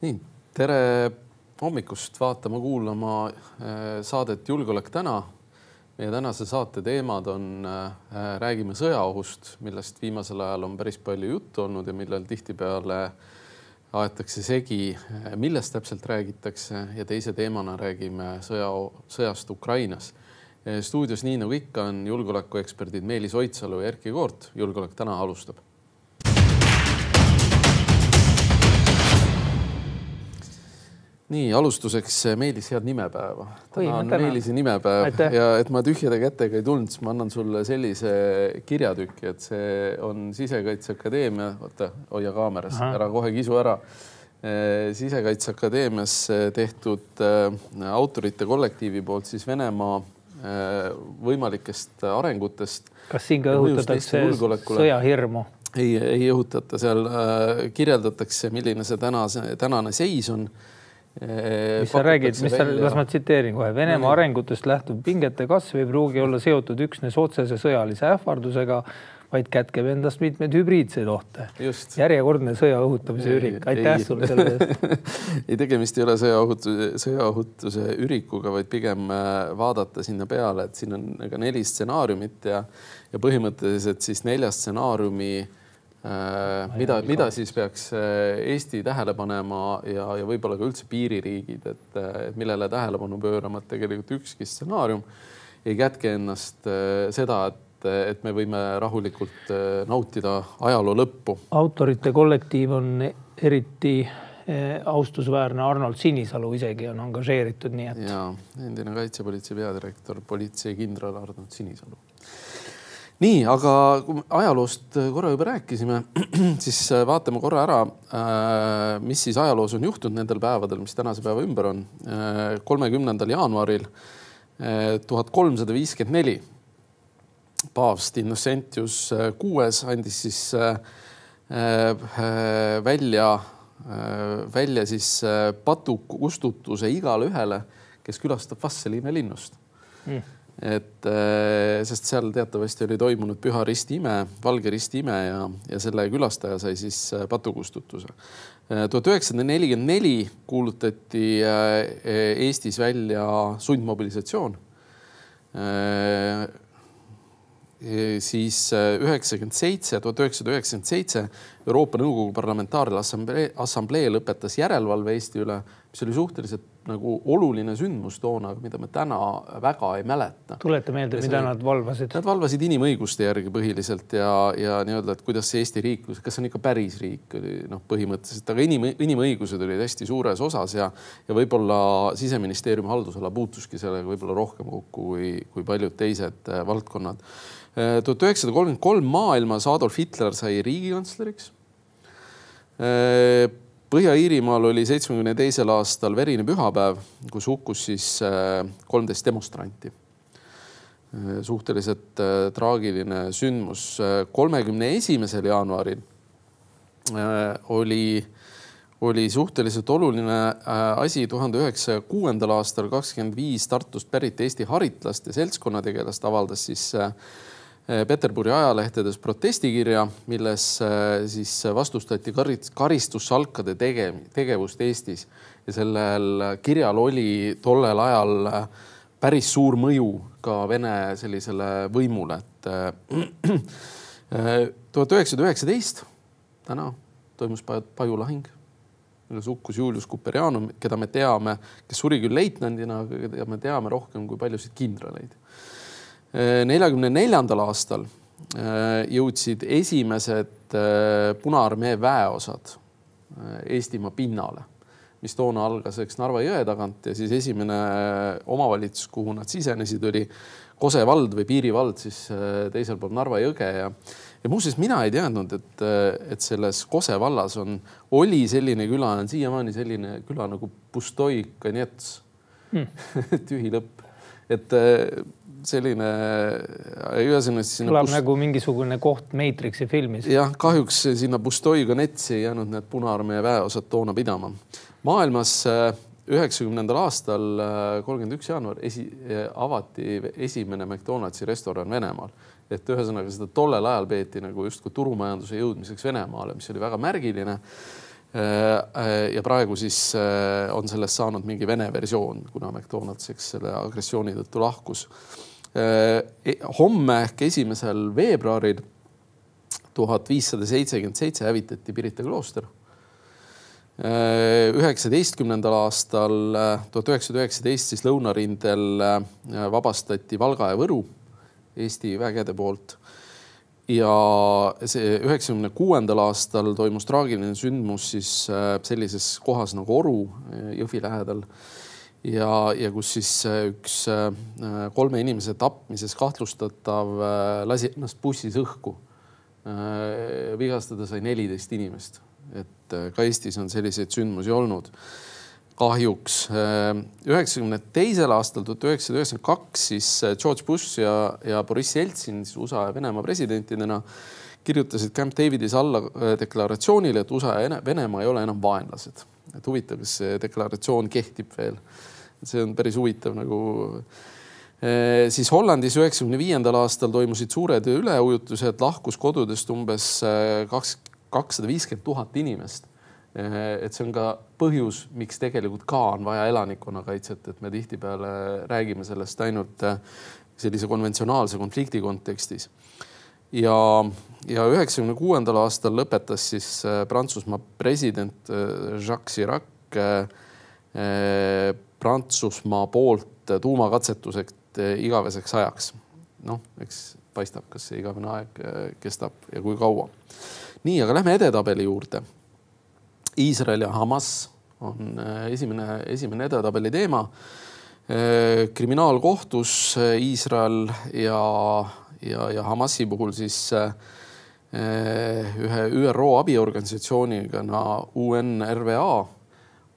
Nii, tere hommikust vaatama, kuulama saadet Julgeolek täna. Meie tänase saate teemad on, räägime sõjaohust, millest viimasel ajal on päris palju juttu olnud ja millel tihtipeale aetakse segi, millest täpselt räägitakse, ja teise teemana räägime sõjast Ukrainas. Stuudios nii nagu ikka on julgeolekueksperdid Meelis Oidsalu ja Erki Koort. Julgeolek täna alustab. Nii, alustuseks Meelis, head nimepäeva. Täna on Meelisi nimepäev ja et ma tühjade kätega ei tulnud, siis ma annan sulle sellise kirjatüki, et see on Sisekaitseakadeemia, hoia kaameras, ära kohe kisu ära. Sisekaitseakadeemias tehtud autorite kollektiivi poolt siis Venemaa võimalikest arengutest. Kas siin ka õhutatakse sõjahirmu? Ei õhutata, seal kirjeldatakse, milline see tänane seis on. Mis sa räägid, las ma tsiteerin kohe. Venemaa arengutest lähtub pingete kasv ei pruugi olla seotud üksnes otsese sõjalise ähvardusega, vaid kätkeb endast mitmeid hübriidseid ohte. Järjekordne sõja õhutamise ürik. Aitäh sulle selle eest. Ei, tegemist ei ole sõjaõhutuse ürikuga, vaid pigem vaadata sinna peale, et siin on 4 stsenaariumit ja põhimõtteliselt siis 4 stsenaariumi mida siis peaks Eesti tähele panema ja võib-olla ka üldse piiririigid, et millele tähelepanu pöörama, et tegelikult ükski stsenaarium ei kätke ennast seda, et me võime rahulikult nautida ajaloo lõppu. Autorite kollektiiv on eriti austusväärne. Arnold Sinisalu isegi on angažeeritud. Nii et... Ja, endine kaitsepolitsei peadirektor, politseikindral Arnold Sinisalu. Nii, aga kui ajaloost korra juba rääkisime, siis vaatame korra ära, mis siis ajaloos on juhtunud nendel päevadel, mis tänase päeva ümber on. 30. jaanuaril 1354 paavst Innocentius VI andis siis välja siis patukustutuse igale ühele, kes külastab Vastseliine linnust. Sest seal teatavasti oli toimunud Püha Risti ime, Valge Risti ime ja selle külastaja sai siis patukustutuse. 1944 kuulutati Eestis välja sundmobilisatsioon. Siis 1997 Euroopa Nõukogu Parlamentaarne Assamblee lõpetas järelevalve Eesti üle, mis oli suhteliselt nagu oluline sündmus toona, mida me täna väga ei mäleta. Tuleta meelde, mida nad valvasid? Nad valvasid inimõiguste järgi põhiliselt ja nii-öelda, et kuidas see Eesti riik, kas on ikka päris riik, põhimõtteliselt, aga inimõigused olid hästi suures osas ja võib-olla Siseministeeriumi haldusala puutuski sellega võib-olla rohkem kokku kui paljud teised valdkonnad. 1933 maailmas Adolf Hitler sai riigikantsleriks. Põhja-Iirimaal oli 72. aastal verine pühapäev, kus hukkus siis 13 demonstranti. Suhteliselt traagiline sündmus. 31. jaanuaril oli suhteliselt oluline asi 1906. aastal 25 Tartust pärit Eesti haritlaste seltskonnategelast avaldas siis Peterburi ajalehtedes protestikirja, milles siis vastustati karistussalkade tegevust Eestis ja sellel kirjal oli tollel ajal päris suur mõju ka Vene sellisele võimule. 1919 täna toimus Paju-lahing, milles hukkus Julius Kuperianum, keda me teame, kes suri küll leitnandina, aga me teame rohkem kui paljusid kindraleid. 1944. aastal jõudsid esimesed Punaarmee väeosad Eestimaa pinnale, mis toona algas Narva jõe tagant ja siis esimene omavalitsus, kuhu nad sisenesid, oli Kose vald või piirivald siis teisel pool Narva jõge ja muuseas mina ei teadnud, et selles Kose vallas oli selline küla, on siiamaani selline küla nagu Pustoi-Kanets, tühi lõpp. Et selline kõlab nagu mingisugune koht Matrixi filmis. Jah, kahjuks sinna Pustoi-Kanetsi ei jäänud need Punaarmee väeosad toona pidama. Maailmas 90. aastal 31. jaanuar avati esimene McDonaldsi restoran Venemaal. Et ühesõnaga seda tollel ajal peeti nagu justkui turumajanduse jõudmiseks Venemaale, mis oli väga märgiline. Ja praegu siis on sellest saanud mingi Vene versioon, kuna McDonald's selle agressiooni tõttu lahkus. Homme ehk 1. veebruaril 1577 hävitati Pirita klooster. 19. aastal 1919 siis lõunarindel vabastati Valga ja Võru Eesti vägede poolt. Ja see 96. aastal toimus traagiline sündmus siis sellises kohas nagu Oru Jõhvi lähedal. Ja kus siis üks 3 inimese tapmises kahtlustatav lasi ennast bussis õhku. Vigastada sai 14 inimest. Et ka Eestis on selliseid sündmusi olnud. Kahjuks 92. aastal 1992 siis George Bush ja Boris Jeltsin USA ja Venemaa presidentidena kirjutasid Camp Davidis alla deklaratsioonile, et USA ja Venemaa ei ole enam vaenlased. Et huvitav, kas see deklaratsioon kehtib veel. See on päris huvitav nagu. Siis Hollandis 95. aastal toimusid suured üleujutused, lahkus kodudest umbes 250 000 inimest. Et see on ka põhjus, miks tegelikult ka on vaja elanikkonnakaitset, et me tihtipeale räägime sellest ainult sellise konventsionaalse konflikti kontekstis. Ja 96. aastal lõpetas siis Prantsusmaa president Jacques Chirac Prantsusmaa poolt tuumakatsetuseks igaveseks ajaks. Noh, eks paistab, kas see igavene aeg kestab ja kui kaua. Nii, aga lähme edetabeli juurde. Iisrael ja Hamas on esimene edetabeli teema. Kriminaalkohtus Iisrael ja Hamasi puhul siis ühe ÜRO abiorganisatsiooniga UNRWA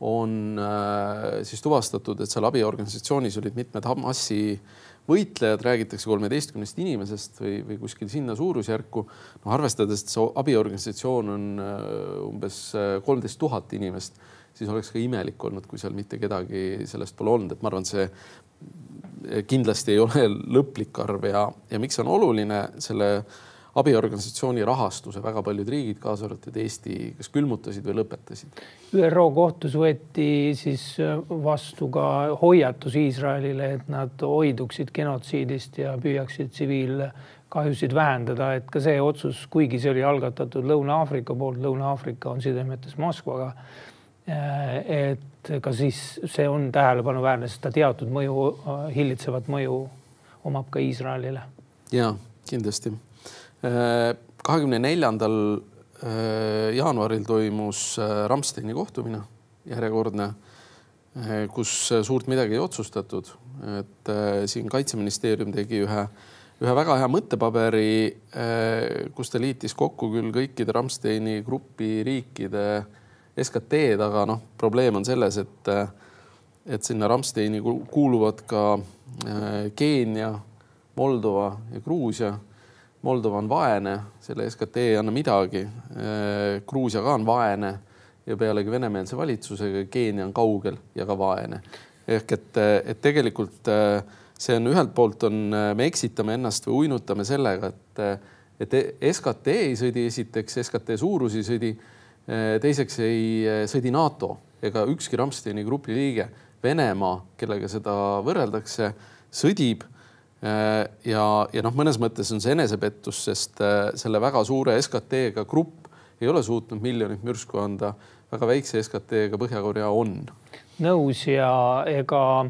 on siis tuvastatud, et seal abiorganisatsioonis olid mitmed Hamasi võitlejad, räägitakse 13 inimesest või kuskil sinna suurusjärku. No, arvestades, et see abiorganisatsioon on umbes 13 000 inimest, siis oleks ka imelik olnud, kui seal mitte kedagi sellest pole olnud. Et ma arvan, see kindlasti ei ole lõplik arv ja miks on oluline selle abiorganisatsiooni rahastuse väga paljud riigid, kaasa arvatud Eesti, kas külmutasid või lõpetasid? ÜRO kohtus võeti siis vastu ka hoiatus Iisraelile, et nad hoiduksid genotsiidist ja püüaksid tsiviilkahjusid vähendada. Et ka see otsus, kuigi see oli algatatud Lõuna-Aafrika poolt, Lõuna-Aafrika on sidemetes Moskvaga, et ka siis see on tähelepanuväärne, sest ta teatud mõju, hillitsevat mõju omab ka Iisraelile. Ja, kindlasti. 24. jaanuaril toimus Ramsteini kohtumine järjekordne, kus suurt midagi ei otsustatud. Et siin Kaitseministeerium tegi ühe väga hea mõttepaberi, kus ta liitis kokku küll kõikide Ramsteini grupi riikide SKT-d, aga probleem on selles, et sinna Ramsteini kuuluvad ka Keenia, Moldova ja Gruusia. Moldova on vaene, selle SKT ei anna midagi. Gruusia ka on vaene ja pealegi venemeelse valitsusega Keenia on kaugel ja ka vaene. Ehk et tegelikult see on ühelt poolt me eksitame ennast või uinutame sellega, et SKT ei sõdi esiteks, SKT suurus ei sõdi, teiseks ei sõdi NATO ega ükski Ramsteini grupi liige. Venemaa, kellega seda võrreldakse, sõdib. Ja mõnes mõttes on see enesepettus, sest selle väga suure SKT-ga grupp ei ole suutnud miljonit mürsku anda. Väga väikse SKT-ga Põhja-Korea on. Nõus ja ega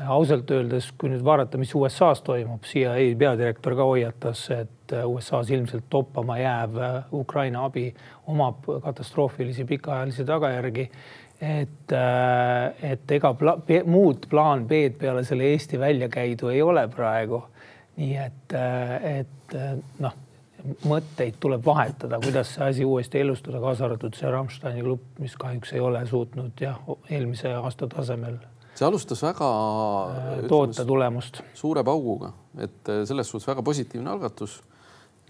ausalt öeldes, kui nüüd vaadata, mis USA's toimub, CIA peadirektor ka hoiatas, et USA's ilmselt toppama jääv Ukraina abi omab katastroofilisi pikaajalisi tagajärgi. Et ega muud plaan B-d peale selle Eesti välja käidu ei ole praegu. Nii et mõtteid tuleb vahetada, kuidas see asi uuesti elustada, kaasa arvatud see Ramsteini klubb, mis kahjuks ei ole suutnud eelmise aasta tasemel. See alustas väga toota tulemust. Suure pauguga, et selles suhtes väga positiivne algatus.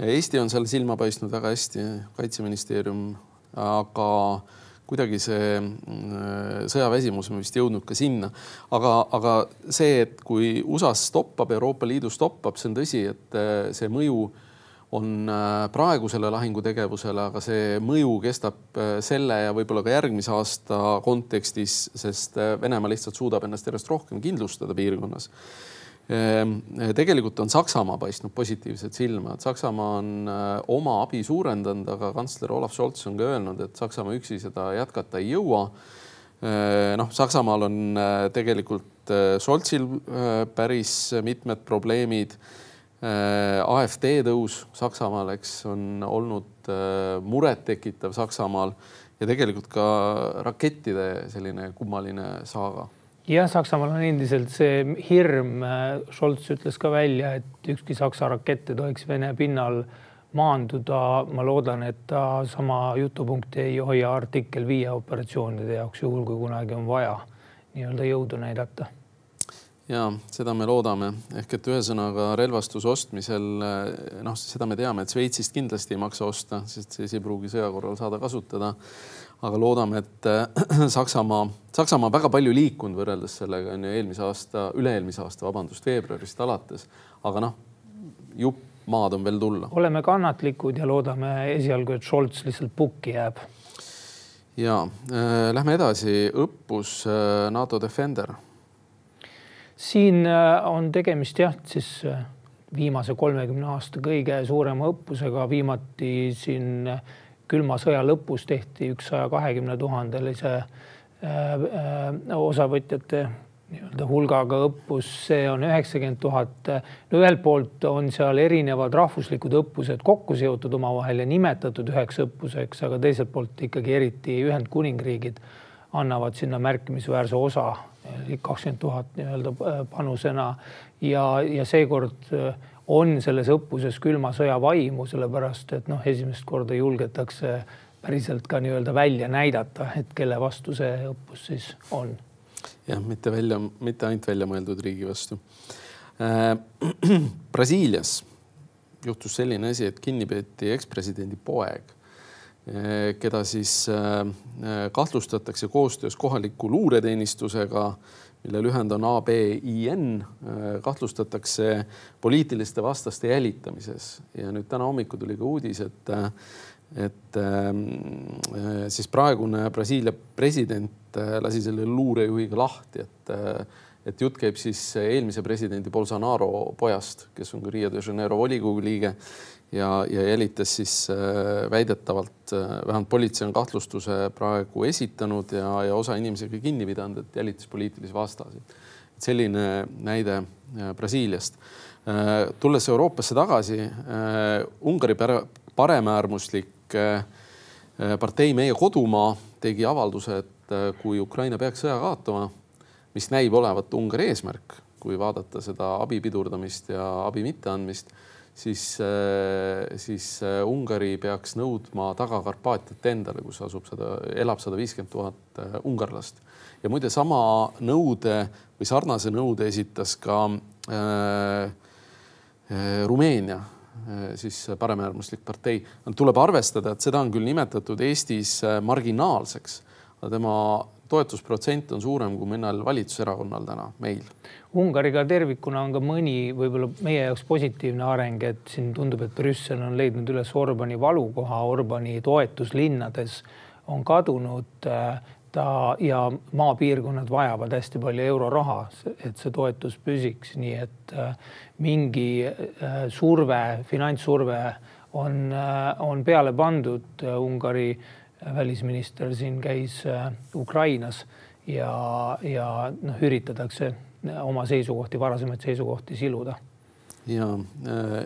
Eesti on seal silma paistnud väga hästi, Kaitseministeerium, aga kuidagi see sõjaväsimus on vist jõudnud ka sinna. Aga see, et kui USA stoppab, Euroopa Liidu stoppab, see on tõsi, et see mõju on praegusele lahingutegevusele, aga see mõju kestab selle ja võib-olla ka järgmise aasta kontekstis, sest Venemaa lihtsalt suudab ennast järjest rohkem kindlustada piirkonnas. Tegelikult on Saksamaa paistnud positiivset silma, et Saksamaa on oma abi suurendanud, aga kantsler Olaf Scholz on ka öelnud, et Saksamaa üksi seda jätkata ei jõua. Saksamaal on tegelikult Scholzil päris mitmed probleemid. AfD tõus Saksamaal, on olnud muret tekitav Saksamaal ja tegelikult ka rakettide selline kummaline saaga. Ja Saksamaal on endiselt see hirm. Scholz ütles ka välja, et ükski Saksa rakette tohiks Vene pinnal maanduda. Ma loodan, et ta sama jutupunkti ei hoia artikkel 5 operatsioonide jaoks juhul, kui kunagi on vaja nii-öelda jõudu näidata. Ja seda me loodame. Ehk et ühesõnaga relvastuse ostmisel, seda me teame, et Šveitsist kindlasti ei maksa osta, sest see ei pruugi sõja korral saada kasutada. Aga loodame, et Saksamaa väga palju liikunud võrreldes sellega üle-eelmise aasta, veebruarist alates. Aga jupp maad on veel tulla. Oleme kannatlikud ja loodame esialgu, et Scholz lihtsalt pukki jääb. Ja, lähme edasi. Õppus NATO Defender. Siin on tegemist siis viimase 30 aasta kõige suurema õppusega. Viimati siin külma sõja lõpus tehti 120 000 osavõtjate hulgaga õppus. See on 90 000. Ühelt poolt on seal erinevad rahvuslikud õppused kokku seotud omavahel ja nimetatud üheks õppuseks, aga teiselt poolt ikkagi eriti Ühendkuningriigid annavad sinna märkimisväärse osa 20 000 panusena ja seekord on selles õppuses külma sõja vaimu, sellepärast et esimest korda julgetakse päriselt ka välja näidata, et kelle vastu see õppus siis on. Jah, mitte ainult välja mõeldud riigi vastu. Brasiilias juhtus selline asi, et kinni peeti ekspresidendi poeg, keda siis kahtlustatakse koostöös kohaliku luureteenistusega, mille lühend on ABIN, kahtlustatakse poliitiliste vastaste jälitamises. Ja nüüd täna hommiku tuli ka uudis, et siis praegune Brasiilia president lasi selle luurejuhiga lahti, et jutt käib siis eelmise presidendi Bolsonaro pojast, kes on ka Rio de Janeiro volikogu liige ja jälitas siis väidetavalt, vähemalt politsei on kahtlustuse praegu esitanud ja osa inimesega kinni pidanud, et jälitas poliitilisi vastasi. Selline näide Brasiiliast. Tulles Euroopasse tagasi, Ungari paremäärmuslik partei Meie kodumaa tegi avalduse, et kui Ukraina peaks sõja kaotama, mis näib olevat Ungari eesmärk, kui vaadata seda abi pidurdamist ja abi mitteandmist, siis Ungari peaks nõudma taga Karpaatiat endale, kus elab 150 000 ungarlast. Ja muide sama nõude või sarnase nõude esitas ka Rumeenia, siis paremäärmuslik partei. Tuleb arvestada, et seda on küll nimetatud Eestis marginaalseks, aga tema toetusprotsent on suurem kui mõnel valitsuserakonnal täna meil. Ungariga tervikuna on ka mõni võib-olla meie jaoks positiivne areng, et siin tundub, et Brüssel on leidnud üles Orbani valukoha, Orbani toetuslinnades on kadunud ja maapiirkonnad vajavad hästi palju euroraha, et see toetus püsiks, nii et mingi surve, finantssurve on peale pandud. Ungari välisminister siin käis Ukrainas ja üritatakse oma seisukohti, varasemaid seisukohti siluda. Ja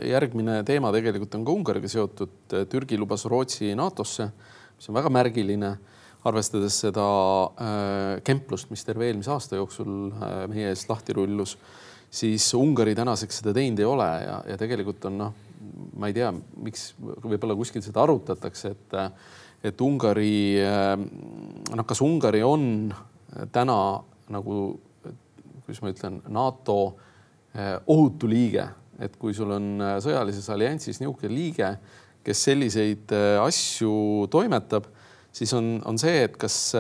järgmine teema tegelikult on ka Ungariga seotud. Türgi lubas Rootsi NATOsse, mis on väga märgiline, arvestades seda kemplust, mis terve eelmise aasta jooksul meie eest lahti rullus, siis Ungari tänaseks seda teinud ei ole ja tegelikult on, ma ei tea, miks võib-olla kuskil seda arutatakse, et Ungari, kas Ungari on täna nagu, kuidas ma ütlen, NATO ohutu liige, et kui sul on sõjalises alliansis niisugune liige, kes selliseid asju toimetab, siis on see, et kas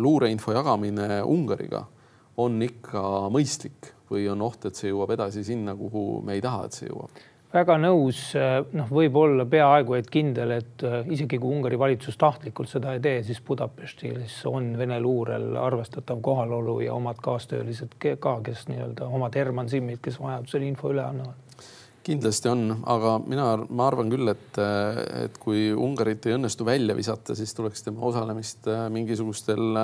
luureinfo jagamine Ungariga on ikka mõistlik või on oht, et see jõuab edasi sinna, kuhu me ei taha, et see jõuab. väga nõus, võib olla peaaegu et kindel, et isegi kui Ungari valitsus tahtlikult seda ei tee, siis Budapestis on Vene luurel arvestatav kohalolu ja omad kaastöölised ka, kes nii-öelda omad Herman Simmid, kes vajadusel info üle annavad. Kindlasti on, aga ma arvan küll, et kui Ungarit ei õnnestu välja visata, siis tuleks tema osalemist mingisugustel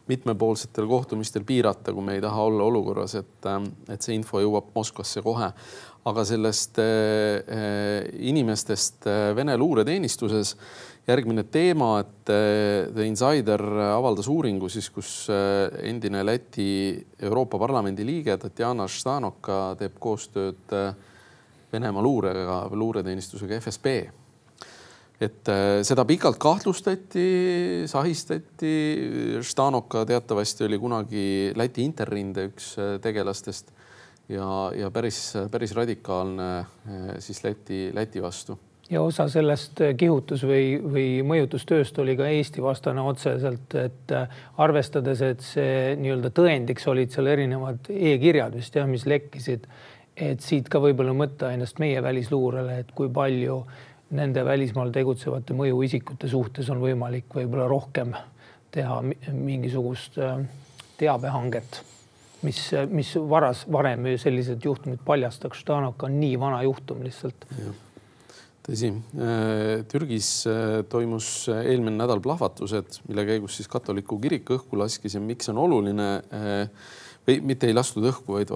mitmepoolsetel kohtumistel piirata, kui me ei taha olla olukorras, et see info jõuab Moskvasse kohe. Aga sellest inimestest Vene luureteenistuses järgmine teema, et The Insider avaldas uuringu, siis, kus endine Läti Euroopa Parlamendi liige Tatjana Ždanoka teeb koostööd Venemaa luureteenistusega FSB. Et seda pikalt kahtlustati, sahistati. Ždanoka teatavasti oli kunagi Läti Interrinde üks tegelastest ja päris radikaalne siis Läti vastu. Ja osa sellest kihutus või mõjutustööst oli ka Eesti vastane otseselt, et arvestades, et see nii-öelda tõendiks olid seal erinevad e-kirjad vist, mis lekkisid, et siit ka võib-olla mõtta ennast meie välisluurele, et kui palju nende välismaal tegutsevate mõjuisikute suhtes on võimalik võib-olla rohkem teha mingisugust teabehanget, mis varem sellised juhtumid paljastaks. Ždanoka on nii vana juhtum lihtsalt. Tõsi. Türgis toimus eelmine nädal plahvatused, mille käigus siis katoliku kirik õhku laskis ja miks on oluline või mitte ei lastud õhku, vaid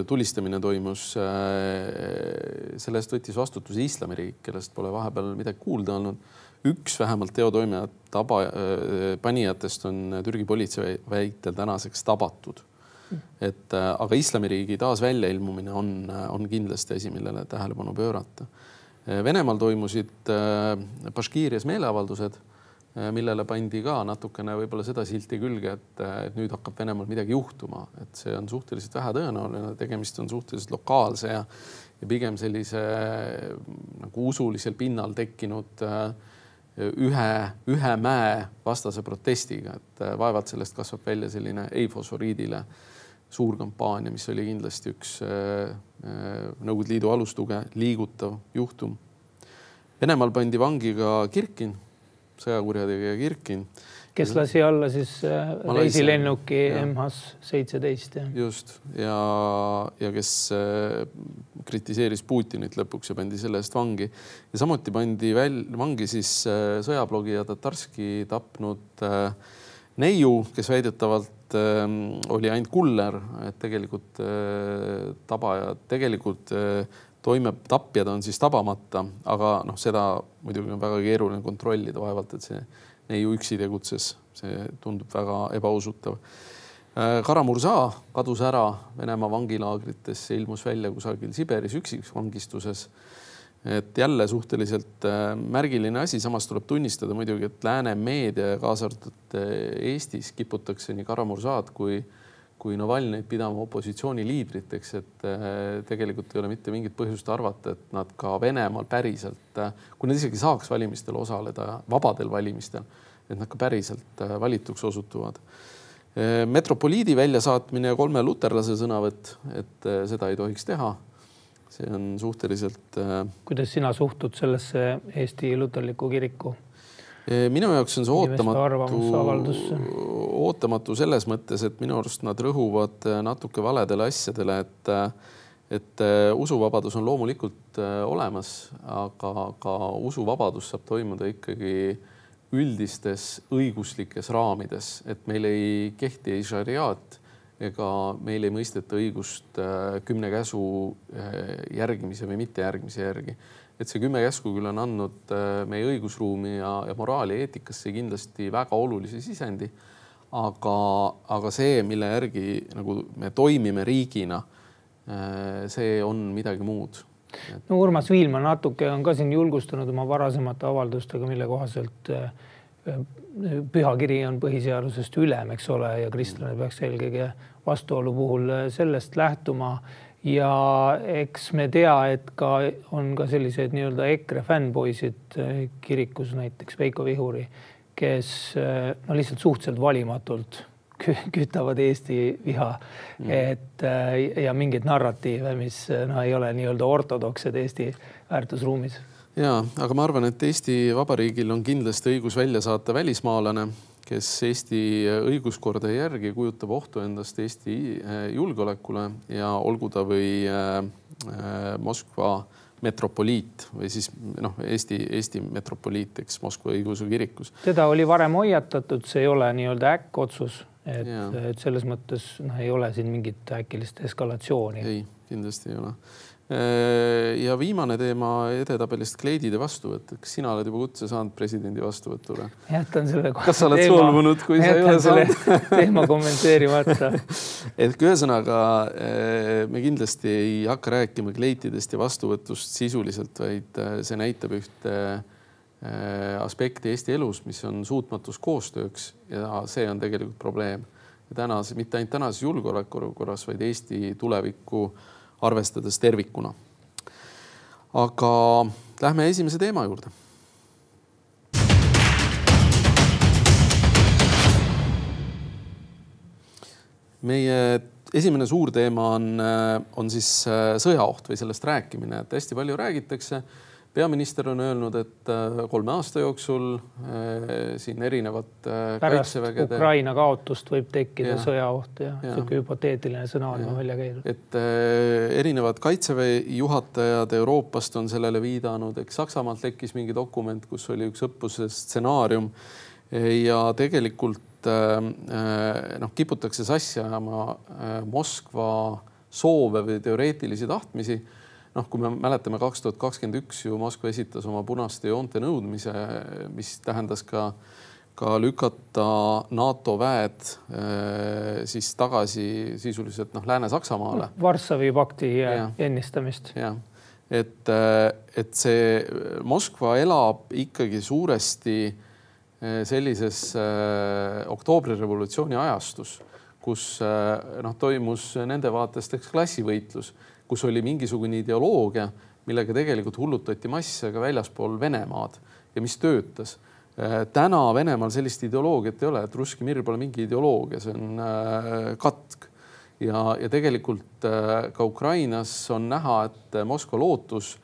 tulistamine toimus. Sellest võttis vastutuse Islamiriik, kellest pole vahepeal midagi kuulda olnud. Üks vähemalt teotoimijat panijatest on Türgi politsei väitel tänaseks tabatud. Aga Islamiriigi taas väljailmumine on kindlasti asi, millele tähelepanu pöörata. Venemaal toimusid Baškiirias meeleavaldused, millele pandi ka natukene võib-olla seda silti külge, et nüüd hakkab Venemaal midagi juhtuma, et see on suhteliselt vähe tõenäoline, tegemist on suhteliselt lokaalse ja pigem sellise nagu usulisel pinnal tekkinud ühe mäe vastase protestiga, et vaevalt sellest kasvab välja selline ei-fosforiidile suur kampaania, mis oli kindlasti üks Nõukogude Liidu alustuge liigutav juhtum. Venemaal pandi vangi ka Kirkin, sõjakurjategija Kirkin. Kes lasi alla siis reisilennuki MH17. Just. Ja kes kritiseeris Putinit lõpuks ja pandi selle eest vangi. Ja samuti pandi vangi siis sõjablogija Tatarski tapnud neiu, kes väidetavalt oli ainult kuller, et tegelikult tapjad on siis tabamata, aga seda muidugi on väga keeruline kontrollida vaevalt, et see neiu üksi tegutses. See tundub väga ebausutav. Kara-Murza kadus ära Venemaa vangilaagrites, ilmus välja kusagil Siberis üksiksvangistuses. Et jälle suhteliselt märgiline asi, samas tuleb tunnistada muidugi, et lääne meedia kaasartud Eestis kiputakse nii Kara-Murzad kui Navalnõid pidama opositsiooni liidriteks, et tegelikult ei ole mitte mingit põhjust arvata, et nad ka Venemaal päriselt, kui nad isegi saaks valimistel osaleda, vabadel valimistel, et nad ka päriselt valituks osutuvad. Metropoliidi väljasaatmine ja 3 luterlase sõnavõtt, et seda ei tohiks teha. See on suhteliselt... Kuidas sina suhtud sellesse Eesti luterliku kiriku? Minu jaoks on see ootamatu selles mõttes, et minu arust nad rõhuvad natuke valedele asjadele, et usuvabadus on loomulikult olemas, aga ka usuvabadus saab toimuda ikkagi üldistes õiguslikes raamides, et meil ei kehti ei šariaat ega meil ei mõisteta õigust 10 käsu järgimise või mitte järgimise järgi. Et see 10 käsku küll on andnud meie õigusruumi ja moraali eetikasse kindlasti väga olulise sisendi, aga see, mille järgi nagu me toimime riigina, see on midagi muud. No Urmas Viilma natuke on ka siin julgustanud oma varasemate avaldustega, mille kohaselt pühakiri on põhiseadusest ülem, eks ole, ja kristlane peaks eelkõige vastuolu puhul sellest lähtuma. Ja eks me tea, et on ka sellised nii-öelda EKRE fännpoisid kirikus, näiteks Veiko Vihuri, kes lihtsalt suhteliselt valimatult kütavad Eesti viha, et ja mingeid narratiive, mis ei ole nii-öelda ortodoksed Eesti väärtusruumis. Ja, aga ma arvan, et Eesti Vabariigil on kindlasti õigus välja saata välismaalane, kes Eesti õiguskorda järgi kujutab ohtu endast Eesti julgeolekule ja olgu ta või Moskva metropoliit või siis Eesti metropoliit, eks Moskva õigeusu kirikus. Teda oli varem hoiatatud, see ei ole nii-öelda äkkotsus, et selles mõttes ei ole siin mingit äkilist eskalatsiooni. Ei, kindlasti ei ole. Ja viimane teema edetabelist kleidide vastuvõtt. Kas sina oled juba kutse saanud presidendi vastuvõtule? Jätan selle Kas sa oled solvunud, kui sa ei ole saanud? Teema kommenteerimata. Et ühesõnaga me kindlasti ei hakka rääkima kleitidest ja vastuvõtust sisuliselt, vaid see näitab ühte aspekti Eesti elus, mis on suutmatus koostööks ja see on tegelikult probleem. Ja mitte ainult tänases julgeolekuolukorras, vaid Eesti tulevikku arvestades tervikuna. Aga lähme esimese teema juurde. Meie esimene suur teema on siis sõjaoht või sellest rääkimine, et hästi palju räägitakse. Peaminister on öelnud, et 3 aasta jooksul siin erinevad kaitsevägede... Pärast Ukraina kaotust võib tekkida sõjaoht ja selline hüpoteetiline sõna on välja käidud. Et erinevad kaitseväe juhatajad Euroopast on sellele viidanud, eks Saksamaalt tekkis mingi dokument, kus oli üks õppuse stsenaarium ja tegelikult kiputakse sassi ajama Moskva soove või teoreetilisi tahtmisi. Kui me mäletame 2021 ju Moskva esitas oma punaste joonte nõudmise, mis tähendas ka lükata NATO väed siis tagasi sisuliselt Lääne-Saksamaale. Varssavi pakti ennistamist. Ja. Et see Moskva elab ikkagi suuresti sellises oktoobrirevolutsiooni ajastus, kus toimus nende vaatest klassivõitlus, kus oli mingisugune ideoloogia, millega tegelikult hullutati masse ka väljaspool Venemaad ja mis töötas. Täna Venemaal sellist ideoloogiat ei ole, et Russki mir pole mingi ideoloogia, see on katk. Ja tegelikult ka Ukrainas on näha, et Moskva lootus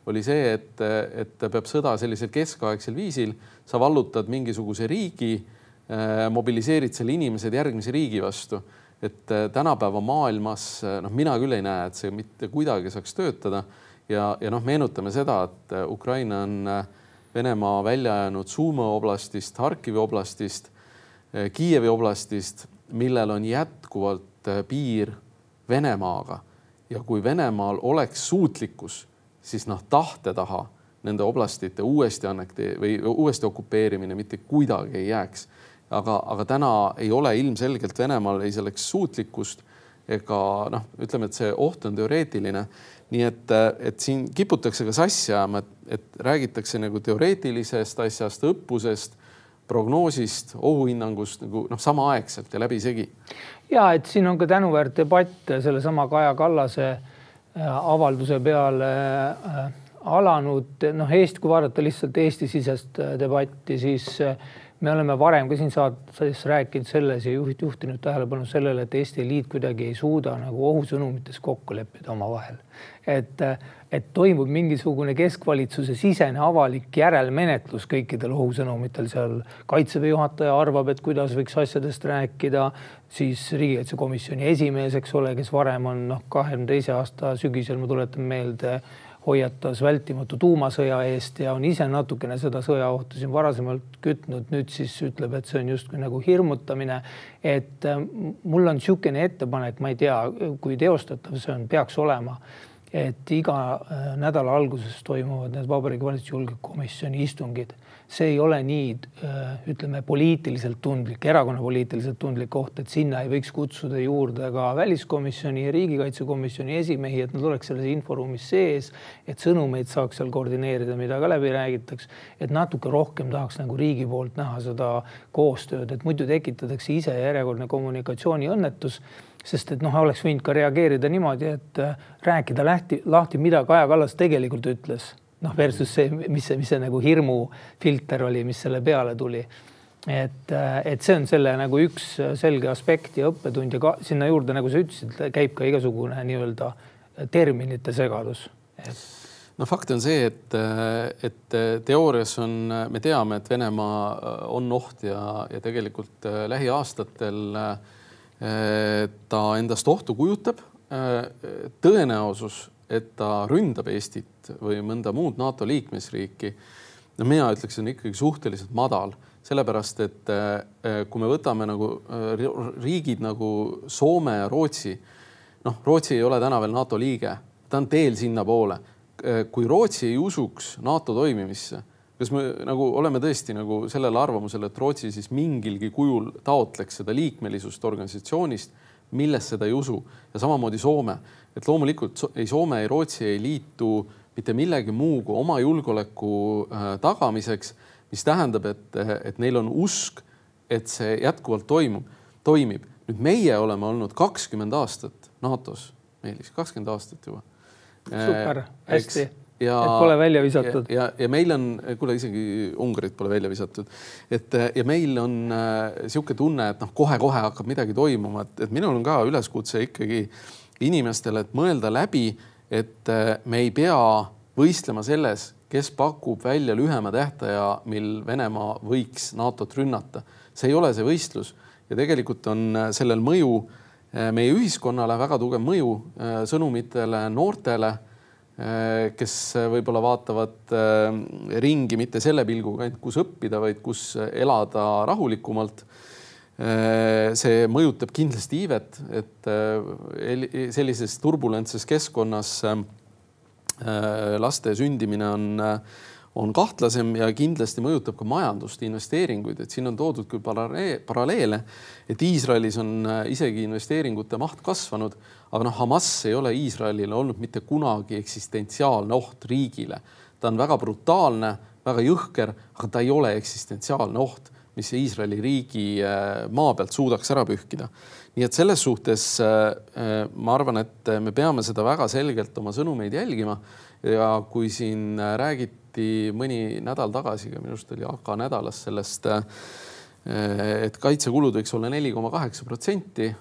oli see, et peab sõda sellisel keskaegsel viisil, sa vallutad mingisuguse riigi, mobiliseerid selle inimesed järgmise riigi vastu. Et tänapäeva maailmas mina küll ei näe, et see mitte kuidagi saaks töötada ja meenutame seda, et Ukraina on Venemaa välja jäänud Sumo oblastist, Harkivi oblastist, Kiievi oblastist, millel on jätkuvalt piir Venemaaga ja kui Venemaal oleks suutlikkus, siis tahte taha nende oblastite uuesti okupeerimine mitte kuidagi ei jääks. Aga täna ei ole ilmselgelt Venemaal ei selleks suutlikkust ega ütleme, et see oht on teoreetiline. Nii et siin kiputakse ka sassi ajama, et räägitakse nagu teoreetilisest asjast, õppusest, prognoosist, ohuhinnangust samaaegselt ja läbisegi. Ja, et siin on ka tänuväärt debatt selle sama Kaja Kallase avalduse peale alanud. Kui vaadata lihtsalt Eesti-sisest debatti, siis me oleme varem ka siin saates rääkinud selles ja juhtinud tähelepanu sellele, et Eesti eliit kuidagi ei suuda nagu ohusõnumites kokku leppida oma vahel. Et toimub mingisugune keskvalitsuse sisene avalik järelmenetlus kõikidel ohusõnumitel. Seal kaitseväe juhataja arvab, et kuidas võiks asjadest rääkida, siis riigikaitsekomisjoni esimees, eks ole, kes varem on 22 aasta sügisel, ma tuletan meelde, hoiatas vältimatu tuumasõja eest ja on ise natukene seda sõjaohtu siin varasemalt kütnud. Nüüd siis ütleb, et see on justkui nagu hirmutamine. Et mul on niisugune ettepanek, ma ei tea, kui teostatav see on, peaks olema, et iga nädala alguses toimuvad need Vabariigi Valitsuse julgeolekukomisjoni istungid. See ei ole nii, ütleme, poliitiliselt tundlik, erakonna poliitiliselt tundlik koht, et sinna ei võiks kutsuda juurde ka väliskomisjoni ja riigikaitsekomisjoni esimehi, et nad oleks selles inforuumis sees, et sõnumeid saaks seal koordineerida, mida ka läbi räägitaks, et natuke rohkem tahaks nagu riigi poolt näha seda koostööd, et muidu tekitatakse ise järjekordne kommunikatsiooni õnnetus, sest et oleks võinud ka reageerida niimoodi, et rääkida lahti, mida Kaja Kallas tegelikult ütles. Versus see, mis see nagu hirmu filter oli, mis selle peale tuli. et see on selle nagu üks selge aspekt ja õppetund ja sinna juurde, nagu sa ütlesid, käib ka igasugune nii-öelda terminite segadus. No fakt on see, et teoorias me teame, et Venemaa on oht ja tegelikult lähiaastatel ta endast ohtu kujutab. Tõenäosus, et ta ründab Eestit või mõnda muud NATO liikmesriiki, no mina ütleks, on ikkagi suhteliselt madal, sellepärast, et kui me võtame nagu riigid nagu Soome ja Rootsi, noh, Rootsi ei ole täna veel NATO liige, ta on teel sinna poole. Kui Rootsi ei usuks NATO toimimisse, kas me nagu oleme tõesti nagu sellel arvamusel, et Rootsi siis mingilgi kujul taotleks seda liikmelisust organisatsioonist, milles seda ei usu ja samamoodi Soome, et loomulikult ei Soome ja Rootsi ei liitu mitte millegi muu kui oma julgeoleku tagamiseks, mis tähendab, et neil on usk, et see jätkuvalt toimib. Nüüd meie oleme olnud 20 aastat NATO-s, Meelis, 20 aastat juba. Super, hästi. Et pole välja visatud. Ja meil on, kuule isegi Ungarit pole välja visatud, ja meil on siuke tunne, et kohe-kohe hakkab midagi toimuma, et minul on ka üleskutse ikkagi inimestele, et mõelda läbi, et me ei pea võistlema selles, kes pakub välja lühema tähtaja, mil Venemaa võiks NATO-t rünnata. See ei ole see võistlus ja tegelikult on sellel mõju meie ühiskonnale, väga tugev mõju sõnumitele noortele, kes võib-olla vaatavad ringi mitte selle pilguga, kus õppida, vaid kus elada rahulikumalt. See mõjutab kindlasti iivet, et sellises turbulentses keskkonnas laste sündimine on kahtlasem ja kindlasti mõjutab ka majandust, investeeringuid, et siin on toodud küll paralleele, et Iisraelis on isegi investeeringute maht kasvanud, aga Hamas ei ole Iisraelile olnud mitte kunagi eksistentsiaalne oht riigile. Ta on väga brutaalne, väga jõhker, aga ta ei ole eksistentsiaalne oht, mis Iisraeli riigi maa pealt suudaks ära pühkida. Nii et selles suhtes ma arvan, et me peame seda väga selgelt oma sõnumeid jälgima ja kui siin räägiti mõni nädal tagasi, minust oli AK nädalas sellest, et kaitsekulud võiks olla 4,8%.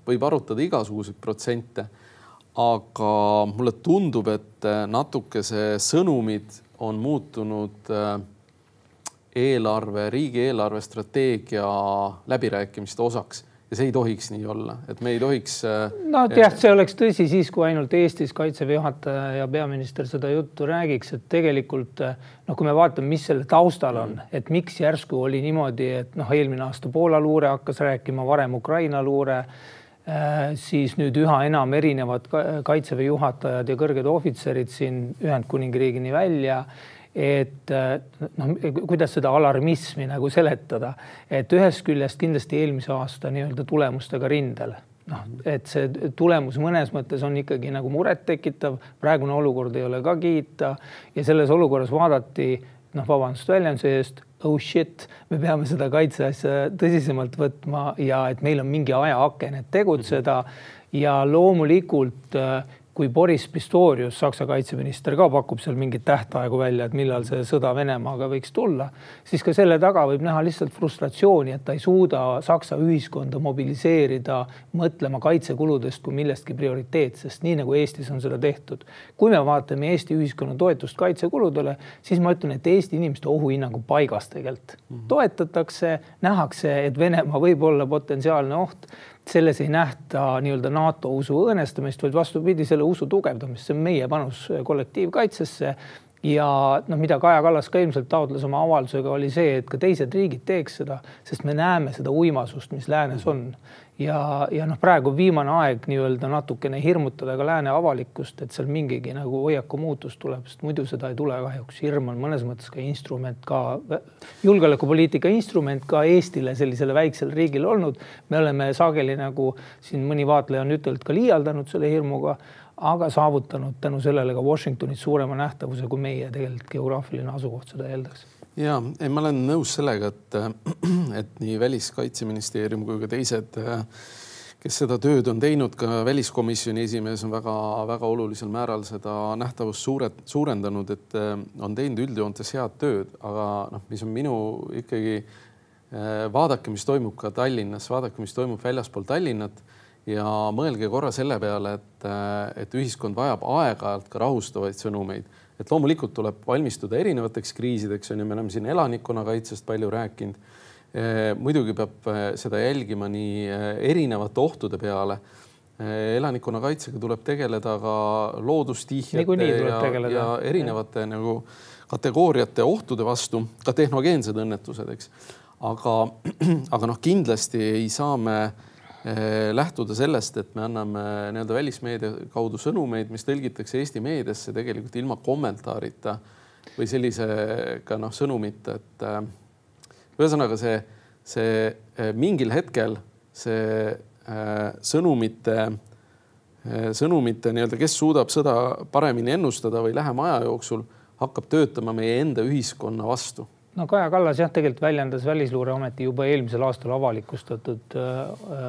Võib arutada igasuguseid protsente, aga mulle tundub, et natuke see sõnumid on muutunud riigieelarve strateegia läbirääkimiste osaks ja see ei tohiks nii olla, et me ei tohiks... see oleks tõsi siis, kui ainult Eestis kaitseväe juhataja ja peaminister seda juttu räägiks, et tegelikult, kui me vaatame, mis selle taustal on, et miks järsku oli niimoodi, et eelmine aasta Poola luure hakkas rääkima, varem Ukraina luure, siis nüüd üha enam erinevad kaitseväe juhatajad ja kõrged ohvitserid siin Ühendkuningriigini välja, et kuidas seda alarmismi nagu seletada, et ühest küljest kindlasti eelmise aasta nii-öelda tulemustega rindel. Et see tulemus mõnes mõttes on ikkagi nagu muret tekitav, praegune olukord ei ole ka kiita ja selles olukorras vaadati, vabandust väljenduse eest, oh shit, me peame seda kaitseasja tõsisemalt võtma ja et meil on mingi ajaaken, et tegutseda ja loomulikult kui Boris Pistorius, Saksa kaitseminister, ka pakub seal mingit tähtaegu välja, et millal see sõda Venemaaga võiks tulla, siis ka selle taga võib näha lihtsalt frustratsiooni, et ta ei suuda Saksa ühiskonda mobiliseerida, mõtlema kaitsekuludest kui millestki prioriteetsest, nii nagu Eestis on seda tehtud. Kui me vaatame Eesti ühiskonna toetust kaitsekuludele, siis ma ütlen, et Eesti inimeste ohuhinnangu paigas tegelikult. Toetatakse, nähakse, et Venemaa võib olla potentsiaalne oht, selles ei nähta nii-öelda NATO usu õõnestamist, vaid vastupidi selle usu tugevdamist. See on meie panus kollektiivkaitsesse ja mida Kaja Kallas ka ilmselt taotles oma avaldusega oli see, et ka teised riigid teeks seda, sest me näeme seda uimasust, mis läänes on. Ja praegu viimane aeg nii-öelda natukene hirmutada ka lääne avalikkust, et seal mingigi nagu hoiaku muutus tuleb, sest muidu seda ei tule kahjuks. Hirm on mõnes mõttes ka instrument, ka julgeolekupoliitika instrument ka Eestile sellisele väiksele riigile olnud. Me oleme sageli nagu siin mõni vaatleja on ütelnud ka liialdanud selle hirmuga, aga saavutanud tänu sellele ka Washingtonit suurema nähtavuse, kui meie tegelikult geograafiline asukoht seda eeldaks. Ja, ma olen nõus sellega, et nii Väliskaitseministeerium kui ka teised kes seda tööd on teinud, ka väliskomisjoni esimees on väga olulisel määral seda nähtavust suurendanud, et on teinud üldjoontes head tööd, aga noh, mis on minu ikkagi vaadake, mis toimub ka Tallinnas, vaadake, mis toimub väljaspool Tallinnat ja mõelge korra selle peale, et ühiskond vajab aeg-ajalt ka rahustavaid sõnumeid, et loomulikult tuleb valmistuda erinevateks kriisideks, me oleme siin elanikkonnakaitsest palju rääkinud. Muidugi peab seda jälgima nii erinevate ohtude peale. Elanikkonnakaitsega tuleb tegeleda ka loodustihjate ja erinevate nagu kategooriate ohtude vastu, ka tehnogeensed õnnetused, eks. Aga noh, kindlasti ei saa me lähtuda sellest, et me anname nii-öelda välismeedia kaudu sõnumeid, mis tõlgitakse Eesti meediasse tegelikult ilma kommentaarita või sellise ka noh, sõnumita, et ühesõnaga see mingil hetkel see sõnumite nii-öelda, kes suudab sõda paremini ennustada või lähema aja jooksul hakkab töötama meie enda ühiskonna vastu. No Kaja Kallas tegelikult väljendas Välisluureameti juba eelmisel aastal avalikustatud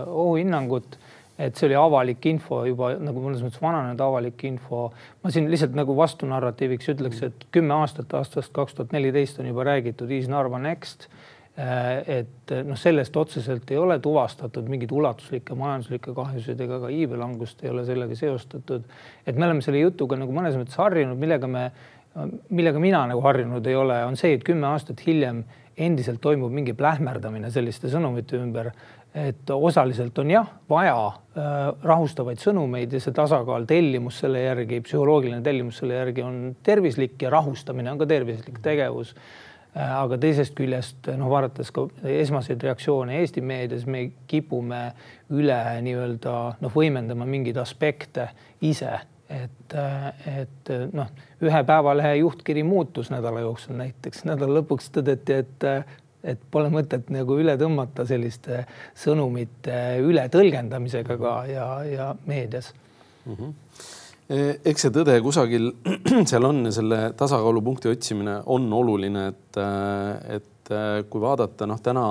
ohuhinnangut, et see oli avalik info juba nagu mõnes mõttes vananenud avalik info. Ma siin lihtsalt nagu vastunarratiiviks ütleks, et 10 aastat aastast 2014 on juba räägitud East Narva Next, et noh, sellest otseselt ei ole tuvastatud mingid ulatuslikke majanduslikke kahjusid ega ka iibelangust ei ole sellega seostatud. Et me oleme selle jutuga nagu mõnes mõttes harjunud, millega mina nagu harjunud ei ole, on see, et 10 aastat hiljem endiselt toimub mingi plähmerdamine selliste sõnumite ümber, et osaliselt on vaja rahustavaid sõnumeid ja see tasakaal tellimus selle järgi, psühholoogiline tellimus selle järgi on tervislik ja rahustamine on ka tervislik tegevus. Aga teisest küljest, vaadates ka esmaseid reaktsioone Eesti meedias, me kipume üle nii-öelda võimendama mingeid aspekte ise. Et ühe päevalehe juhtkiri muutus nädala jooksul näiteks. Nädala lõpuks tõdeti, et pole mõtet nagu üle tõmmata selliste sõnumite üle tõlgendamisega ka ja meedias. Eks see tõde kusagil seal on ja selle tasakaalupunkti otsimine on oluline, et kui vaadata täna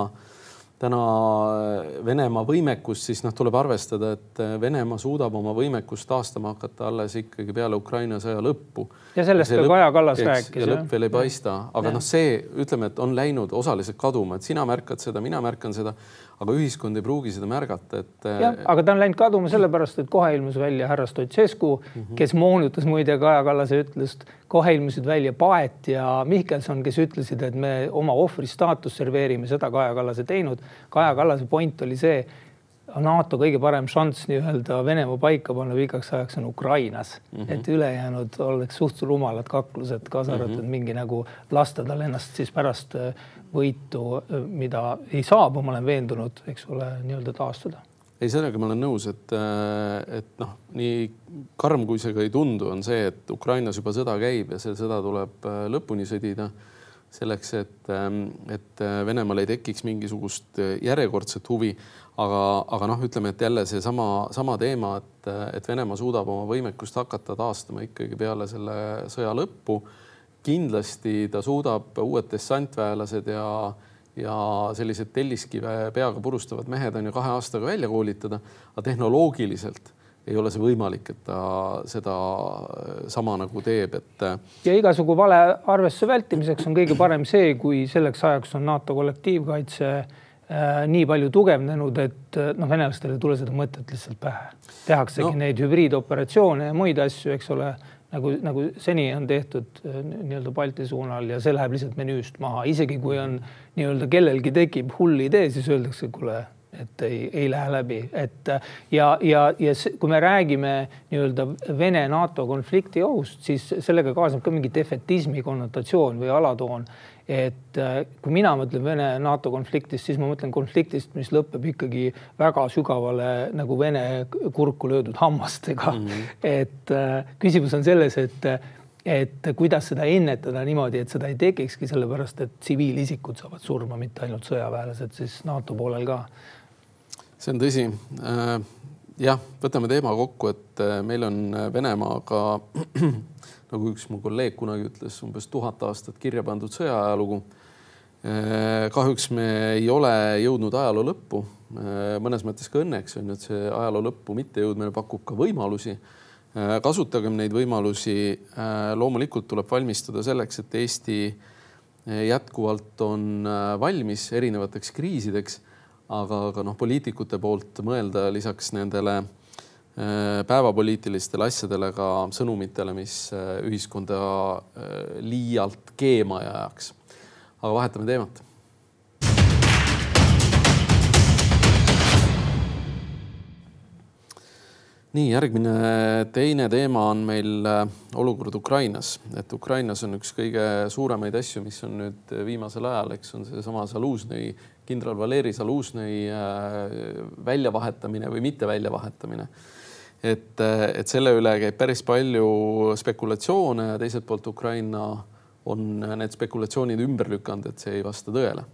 Venemaa võimekust, siis tuleb arvestada, et Venemaa suudab oma võimekust taastama hakata alles ikkagi peale Ukraina sõja lõppu. Ja sellest ka Kaja Kallas rääkis. Ja lõpp veel ei paista. Aga see, ütleme, et on läinud osaliselt kaduma, et sina märkad seda, mina märkan seda, aga ühiskond ei pruugi seda märgata. Aga ta on läinud kaduma sellepärast, et kohe ilmus välja härra Stoicescu, kes moonutas muide Kaja Kallase ütlust, kohe ilmusid välja Paet ja Mihkelson, kes ütlesid, et me oma ohvri staatus serveerime, seda Kaja Kallase teinud. Kaja Kallase point oli see, NATO kõige parem šanss nii-öelda Venemaa paika panna pikaks ajaks on Ukrainas, et ülejäänud oleks suht rumalad kaklused, kaasa arvatud mingi nagu lasta tal ennast siis pärast võitu, mida ei saab, ma olen veendunud, eks ole, nii-öelda taastada. Ei, sellega ma olen nõus, et nii karm kui see ka ei tundu, on see, et Ukrainas juba sõda käib ja see sõda tuleb lõpuni sõdida selleks, et Venemaal ei tekiks mingisugust järjekordset huvi. Aga ütleme, et jälle see sama teema, et Venemaa suudab oma võimekust hakata taastama ikkagi peale selle sõja lõppu. Kindlasti ta suudab uued dessantväelased ja sellised telliskive peaga purustavad mehed on ju 2 aastaga välja koolitada, aga tehnoloogiliselt ei ole see võimalik, et ta seda sama nagu teeb. Ja igasugu vale arvestuse vältimiseks on kõige parem see, kui selleks ajaks on NATO kollektiivkaitse nii palju tugevnenud, et venelastele ei tule seda mõtet lihtsalt pähe. Tehaksegi neid hübriidoperatsioone ja muid asju, eks ole, nagu seni on tehtud nii-öelda Balti suunal ja see läheb lihtsalt menüüst maha. Isegi kui on nii-öelda kellelgi tekib hull idee, siis öeldakse, kuule, et ei lähe läbi. Ja kui me räägime nii-öelda Vene-NATO konflikti ohust, siis sellega kaasneb ka mingi defetismi konnotatsioon või alatoon. Et kui mina mõtlen Vene-NATO konfliktist, siis ma mõtlen konfliktist, mis lõpeb ikkagi väga sügavale nagu Vene kurku löödud hammastega. Et küsimus on selles, et kuidas seda ennetada niimoodi, et seda ei tekikski sellepärast, et tsiviilisikud saavad surma, mitte ainult sõjaväelased, siis NATO poolel ka. See on tõsi. Jah, võtame teema kokku, et meil on Venemaaga nagu üks mu kolleeg kunagi ütles, umbes 1000 aastat kirja pandud sõjaajalugu. Kahjuks me ei ole jõudnud ajaloo lõppu. Mõnes mõttes ka õnneks on, et see ajaloo lõppu mitte jõudmine pakub ka võimalusi. Kasutagem neid võimalusi. Loomulikult tuleb valmistuda selleks, et Eesti jätkuvalt on valmis erinevateks kriisideks, aga poliitikute poolt mõelda lisaks nendele päevapoliitilistele asjadele ka sõnumitele, mis ühiskonda liialt keema ei ajaks. Aga vahetame teemat. Nii, järgmine teine teema on meil olukord Ukrainas. Et Ukrainas on üks kõige suuremaid asju, mis on nüüd viimasel ajal, eks on see sama Zalužnõi, kindral Valeri Zalužnõi väljavahetamine või mitte väljavahetamine. Et selle üle käib päris palju spekulatsioone ja teiselt poolt Ukraina on need spekulatsioonid ümber lükanud, et see ei vasta tõele.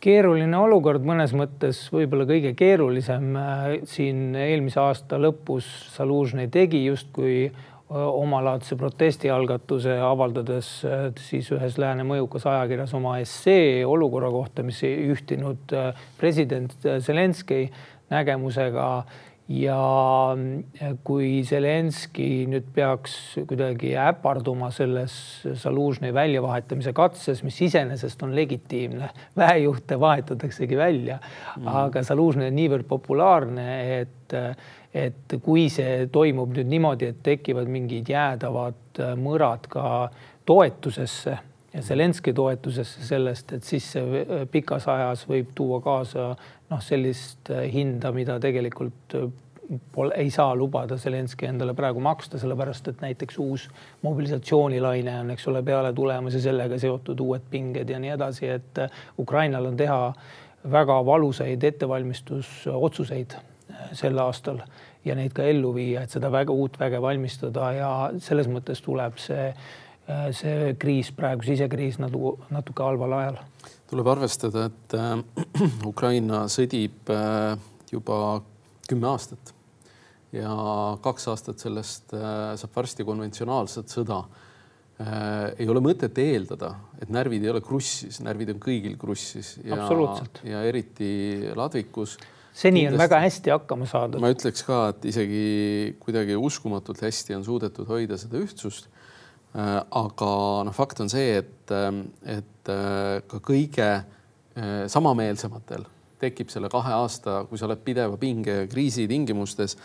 Keeruline olukord mõnes mõttes, võib-olla kõige keerulisem siin eelmise aasta lõpus Zalužnõi tegi justkui omalaadse protestialgatuse avaldades siis ühes lääne mõjukas ajakirjas oma essee olukorra kohta, mis ei ühtinud president Zelenskõi nägemusega. Ja kui Zelenskõi nüüd peaks kuidagi äparduma selles Zalužnõi väljavahetamise katses, mis iseenesest on legitiimne, väejuhte vahetataksegi välja, aga Zalužnõi on niivõrd populaarne, et kui see toimub nüüd niimoodi, et tekivad mingid jäädavad mõrad ka toetusesse ja Zelenskõi toetusesse sellest, et siis see pikas ajas võib tuua kaasa sellist hinda, mida tegelikult ei saa lubada Zelenskõi endale praegu maksta, sellepärast et näiteks uus mobilisatsioonilaine on, eks ole, peale tulemas ja sellega seotud uued pinged ja nii edasi, et Ukrainal on teha väga valusaid ettevalmistusotsuseid sel aastal ja neid ka ellu viia, et seda uut väge valmistada ja selles mõttes tuleb see kriis, praegu sisekriis natuke halval ajal. Tuleb arvestada, et Ukraina sõdib juba 10 aastat ja 2 aastat sellest saab varsti konventsionaalset sõda. Ei ole mõtet eeldada, et närvid ei ole krussis, närvid on kõigil krussis ja eriti ladvikus. Seni on väga hästi hakkama saada. Ma ütleks ka, et isegi kuidagi uskumatult hästi on suudetud hoida seda ühtsust. Aga fakt on see, et ka kõige samameelsematel tekib selle 2 aasta, kui sa oled pideva pinge ja kriisi tingimustes,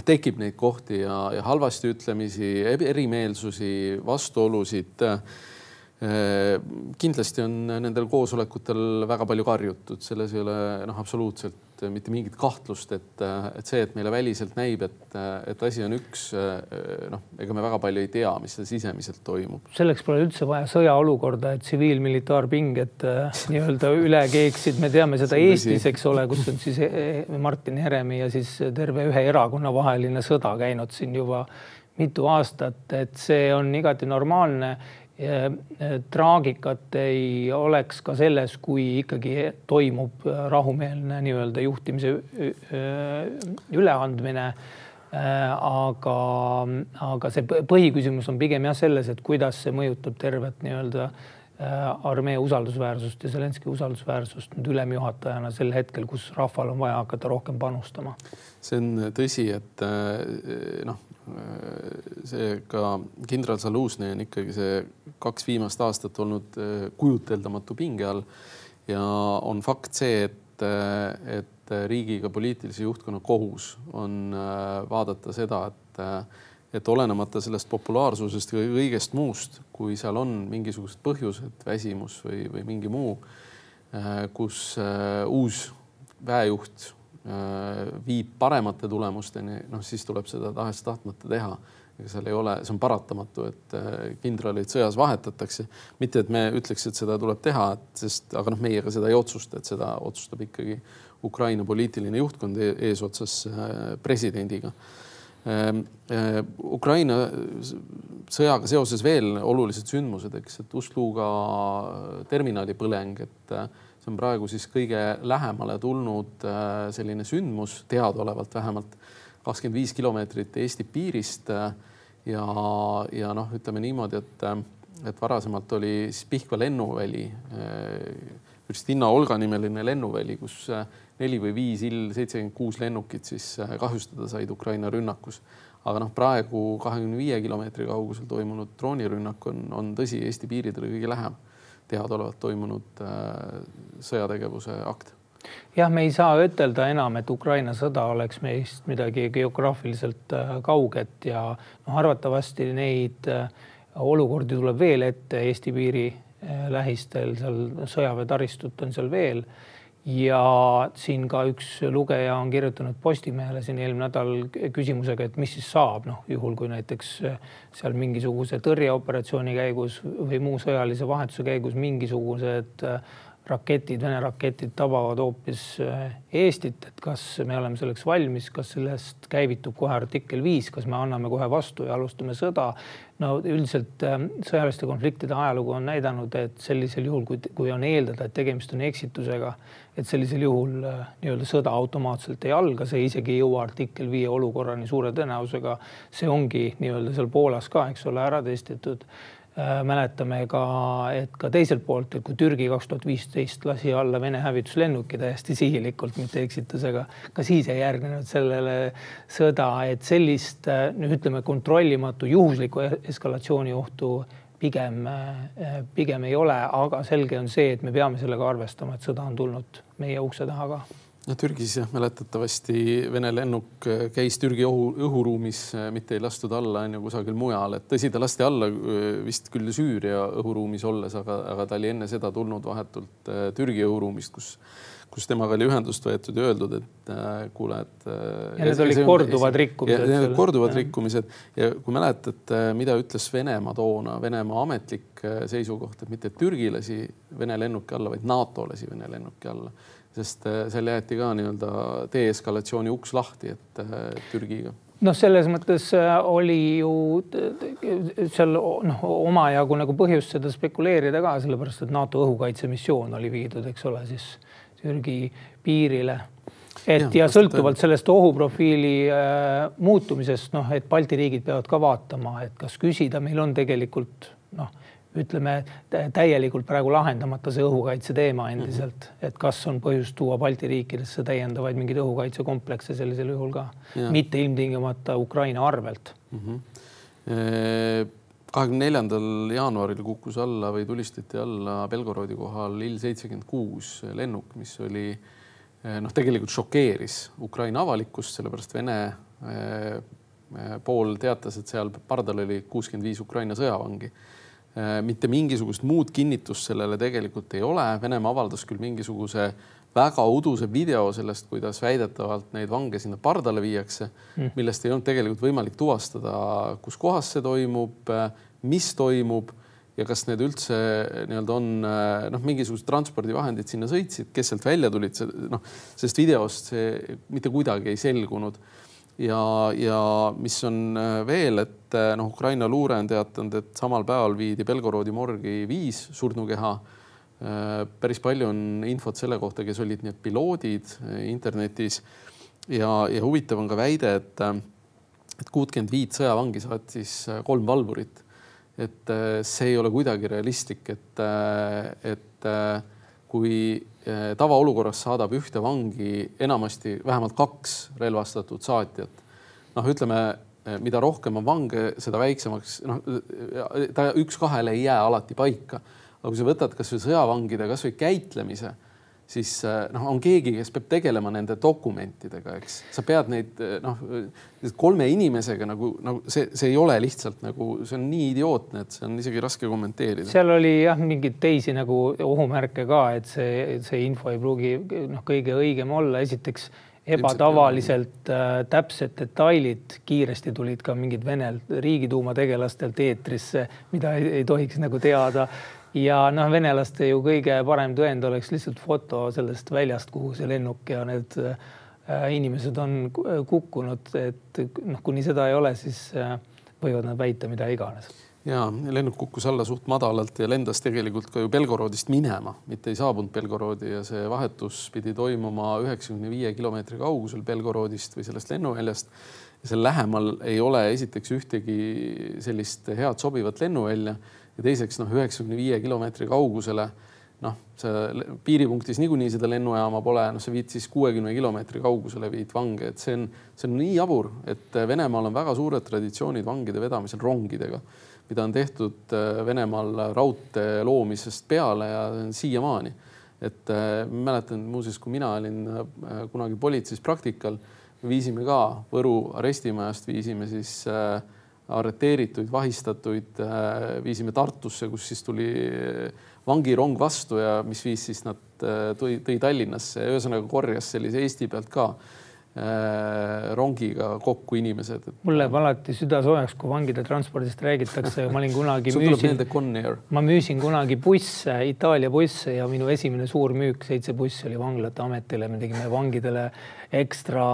tekib neid kohti ja halvasti ütlemisi, erimeelsusi, vastuolusid. Kindlasti on nendel koosolekutel väga palju karjutud, selles ei ole absoluutselt mitte mingit kahtlust, et see, et meile väliselt näib, et asi on üks, ega me väga palju ei tea, mis see sisemiselt toimub. Selleks pole üldse vaja sõjaolukorda, et tsiviil-militaarpinged nii-öelda üle keeksid. Me teame seda Eestis, eks ole, kus on siis Martin Heremi ja siis terve ühe erakonna vaheline sõda käinud siin juba mitu aastat, et see on igati normaalne. Traagikat ei oleks ka selles, kui ikkagi toimub rahumeelne nii-öelda juhtimise üleandmine. Aga see põhiküsimus on pigem selles, et kuidas see mõjutab tervet nii-öelda armee usaldusväärsust ja Zelenskõi usaldusväärsust nüüd ülemjuhatajana sel hetkel, kus rahval on vaja hakata rohkem panustama. See on tõsi, et see ka kindral Zalužnõi on ikkagi see 2 viimast aastat olnud kujuteldamatu pinge all ja on fakt see, et riigiga poliitilise juhtkonna kohus on vaadata seda, et olenemata sellest populaarsusest või kõigest muust, kui seal on mingisugused põhjused, väsimus või mingi muu, kus uus väejuht viib paremate tulemusteni, siis tuleb seda tahes tahtmata teha. Ega seal ei ole, see on paratamatu, et kindralid sõjas vahetatakse. Mitte, et me ütleks, et seda tuleb teha, aga meiega seda ei otsusta, et seda otsustab ikkagi Ukraina poliitiline juhtkond eesotsas presidendiga. Ukraina sõjaga seoses veel olulised sündmused, et Ust-Luga terminali põleng, et see on praegu siis kõige lähemale tulnud selline sündmus, teadaolevalt vähemalt 25 kilomeetrit Eesti piirist ja ütleme niimoodi, et varasemalt oli siis Pihkva lennuväli, Kristina Olga nimeline lennuväli, kus 4 või 5 Il-76 lennukit siis kahjustada said Ukraina rünnakus. Aga praegu 25 kilomeetri kaugusel toimunud droonirünnak on tõsi Eesti piiridele kõige lähem teadaolevalt toimunud sõjategevuse akt. Jah, me ei saa ütelda enam, et Ukraina sõda oleks meist midagi geograafiliselt kauget ja arvatavasti neid olukordi tuleb veel ette Eesti piiri lähistel, seal sõjaväetaristut on seal veel. Ja siin ka üks lugeja on kirjutanud Postimehele siin eelmine nädal küsimusega, et mis siis saab, juhul kui näiteks seal mingisuguse tõrjeoperatsiooni käigus või muu sõjalise vahetuse käigus mingisugused raketid, Vene raketid tabavad hoopis Eestit, et kas me oleme selleks valmis, kas sellest käivitub kohe artikkel 5, kas me anname kohe vastu ja alustame sõda. No üldiselt sõjaliste konfliktide ajalugu on näidanud, et sellisel juhul, kui on eeldada, et tegemist on eksitusega, et sellisel juhul nii-öelda sõda automaatselt ei alga, see isegi ei jõua artikkel 5 olukorrani suure tõenäosusega. See ongi nii-öelda seal Poolas ka, eks ole, ära testitud. Mäletame ka, et ka teiselt poolt, et kui Türgi 2015 lasi alla Vene hävituslennuki täiesti sihilikult, mitte eksitusega, ka siis ei järgnenud sellele sõda, et sellist, ütleme, kontrollimatu juhusliku eskalatsiooni ohtu pigem ei ole, aga selge on see, et me peame sellega arvestama, et sõda on tulnud meie ukse taha ka. Türgis mäletatavasti Vene lennuk käis Türgi õhuruumis, mitte ei lastud alla kusagil mujal. Et tõsi, ta lasti alla vist küll Süüria õhuruumis olles, aga ta oli enne seda tulnud vahetult Türgi õhuruumist, kus temaga oli ühendust võetud ja öeldud, et kuule, et... Ja need olid korduvad rikkumised. Ja korduvad rikkumised. Ja kui mäletad, mida ütles Venemaa toona, Venemaa ametlik seisukoht, et mitte Türgi lasi Vene lennuki alla, vaid NATO lasi Vene lennuki alla. Sest seal jäeti ka nii-öelda deeskalatsiooni uks lahti, et Türgiga. Selles mõttes oli ju seal omajagu nagu põhjust seda spekuleerida ka, sellepärast, et NATO õhukaitsemissioon oli viidud, eks ole, siis Türgi piirile. Ja sõltuvalt sellest ohuprofiili muutumisest, et Balti riigid peavad ka vaatama, et kas küsida, meil on tegelikult, ütleme, täielikult praegu lahendamata see õhukaitse teema endiselt, et kas on põhjust tuua Balti riikidesse täiendavaid mingid õhukaitsekomplekse sellisel juhul ka, mitte ilmtingimata Ukraina arvelt. 24. jaanuaril kukkus alla või tulistati alla Belgorodi kohal Il-76 lennuk, mis oli tegelikult šokeeris Ukraina avalikkust, sellepärast Vene pool teatas, et seal pardal oli 65 Ukraina sõjavangi. Mitte mingisugust muud kinnitust sellele tegelikult ei ole. Venemaa avaldas küll mingisuguse väga uduse video sellest, kuidas väidetavalt neid vange sinna pardale viiakse, millest ei olnud tegelikult võimalik tuvastada, kus kohas see toimub, mis toimub ja kas need üldse on mingisugused transpordivahendid sinna sõitsid, kes sealt välja tulid, sest videost see mitte kuidagi ei selgunud. Ja mis on veel, et Ukraina luure on teatanud, et samal päeval viidi Belgorodi morgi 5 surnukeha. Päris palju on infot selle kohta, kes olid need piloodid internetis. Ja huvitav on ka väide, et 65 sõjavangi saatis 3 valvurit. Et see ei ole kuidagi realistlik, et kui tavaolukorras saadab ühte vangi enamasti vähemalt 2 relvastatud saatjat. Ütleme, mida rohkem on vange, seda väiksemaks, ta 1-2 ei jää alati paika. Aga kui sa võtad kas või sõjavangide, kas või käitlemise, siis on keegi, kes peab tegelema nende dokumentidega, eks. Sa pead neid 3 inimesega see ei ole lihtsalt see on nii idiootne, et see on isegi raske kommenteerida. Seal oli mingid teisi ohumärke ka, et see info ei pruugi kõige õigem olla. Esiteks ebatavaliselt täpsed detailid kiiresti tulid ka mingid Vene riigiduuma tegelastelt eetrisse, mida ei tohiks teada. Ja venelaste ju kõige parem tõend oleks lihtsalt foto sellest väljast, kuhu see lennuk ja need inimesed on kukkunud, et kuni seda ei ole, siis võivad nad väita mida iganes. Ja lennuk kukkus alla suht madalalt ja lendas tegelikult ka ju Belgorodist minema, mitte ei saabunud Belgorodi ja see vahetus pidi toimuma 95 kilomeetri kaugusel Belgorodist või sellest lennuväljast. Ja seal lähemal ei ole esiteks ühtegi sellist head sobivat lennuvälja ja teiseks 95 kilomeetri kaugusele. Piiripunktis niikuinii seda lennujaama pole, sa viid siis 60 kilomeetri kaugusele viid vange, et see on nii jabur, et Venemaal on väga suured traditsioonid vangide vedamisel rongidega, mida on tehtud Venemaal raudtee loomisest peale ja siiamaani. Et mäletan muuseas, kui mina olin kunagi politseis praktikal, viisime ka Võru arestimajast, viisime siis arreteerituid, vahistatuid, viisime Tartusse, kus siis tuli vangirong vastu ja mis viis siis nad tõi Tallinnasse ja ühesõnaga korjas sellise Eesti pealt ka rongiga kokku inimesed. Mulle alati süda soojaks, kui vangide transpordist räägitakse. Ma olin kunagi ma müüsin kunagi busse, Itaalia busse ja minu esimene suur müük 7 bussi oli vanglate ametile. Me tegime vangidele ekstra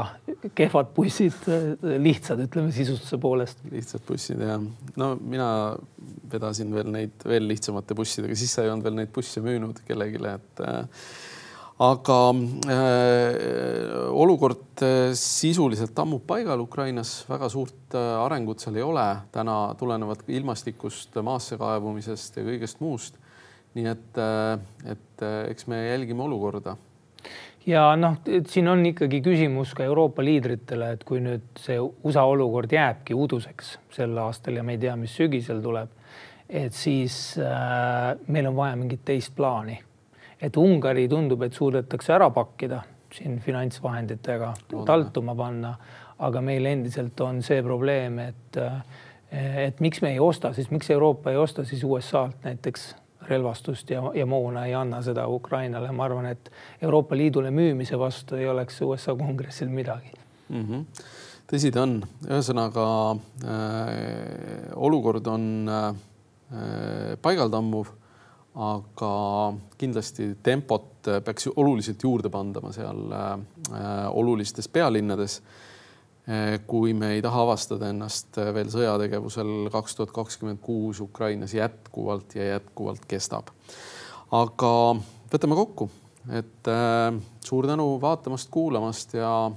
kehvad bussid, lihtsad, ütleme sisustuse poolest. Lihtsad bussid, jah. Mina vedasin veel lihtsamate bussidega, siis sa ei olnud veel neid busse müünud kellegile, et aga olukord sisuliselt tammub paigal Ukrainas, väga suurt arengut seal ei ole, täna tulenevad ilmastikust, maasse kaevumisest ja kõigest muust. Nii et eks me jälgime olukorda. Ja siin on ikkagi küsimus ka Euroopa liidritele, et kui nüüd see USA olukord jääbki uduseks sel aastal ja me ei tea, mis sügisel tuleb, et siis meil on vaja mingit teist plaani. Et Ungari tundub, et suudetakse ära pakkida siin finantsvahenditega, taltuma panna, aga meil endiselt on see probleem, et miks me ei osta, siis miks Euroopa ei osta siis USA-lt näiteks relvastust ja moona ei anna seda Ukrainale. Ma arvan, et Euroopa Liidule müümise vastu ei oleks USA kongressil midagi. Tõsi ta on. Ühesõnaga olukord on paigaltammuv, aga kindlasti tempot peaks oluliselt juurde pandama seal olulistes pealinnades, kui me ei taha avastada ennast veel sõjategevusel 2026 Ukrainas jätkuvalt kestab. Aga võtame kokku, et suur tänu vaatamast, kuulamast ja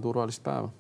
turvalist päeva.